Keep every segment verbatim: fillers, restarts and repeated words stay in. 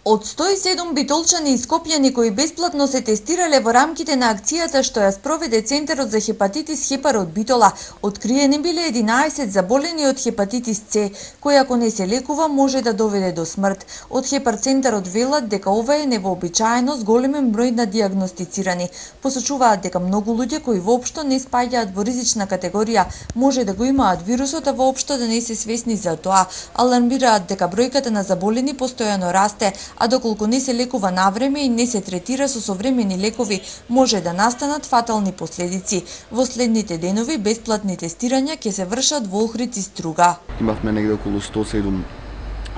Од сто и седум битолчани и скопјани кои бесплатно се тестирале во рамките на акцијата што ја спроведе Центарот за хепатитис Хепар од Битола, откриени биле единаесет заболени од хепатитис С, кој ако не се лекува може да доведе до смрт. Од Хепар Центарот велат дека ова е невообичаено с големен број на дијагностицирани. Посочуваат дека многу луѓе кои воопшто не спаѓаат во ризична категорија може да го имаат вирусот, а воопшто да не се свесни за тоа. Алармираат дека бројката на заболени постојано расте, а доколку не се лекува навреме и не се третира со современи лекови, може да настанат фатални последици. Во следните денови бесплатни тестирања ќе се вршат во Охрид и Струга. Имавме негде околу сто и седум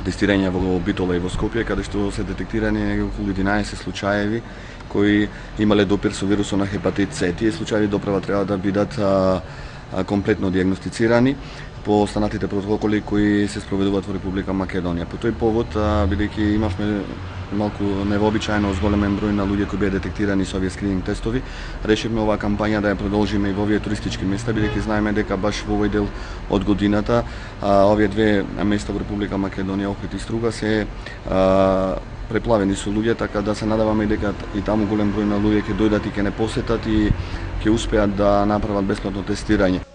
тестирања во Битола и во Скопје, каде што се детектирани негде околу единаесет случаеви кои имале допир со вирусот на хепатит С. Тие случаи доправа треба да бидат а, а, комплетно дијагностицирани по останатите протоколи кои се спроведуваат во Република Македонија. По тој повод, бидејќи имавме малку невообичаено зголемен број на луѓе кои беа детектирани со овие скрининг тестови, решивме оваа кампања да ја продолжиме и во овие туристички места, бидејќи знаеме дека баш во овој дел од годината а, овие две места во Република Македонија, Охрид и Струга, се а, преплавени со луѓе, така да се надаваме дека и таму голем број на луѓе ќе дојдат и ќе не посетат и ќе успеат да направат бесплатно тестирање.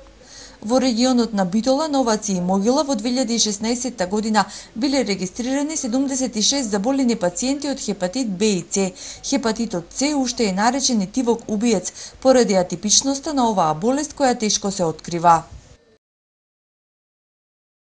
Во регионот на Битола, Новаци и Могила во две илјади и шеснаесетта година биле регистрирани седумдесет и шест заболени пациенти од хепатит Б и С. Хепатитот С уште е наречен етивок убиец поради атипичноста на оваа болест која тешко се открива.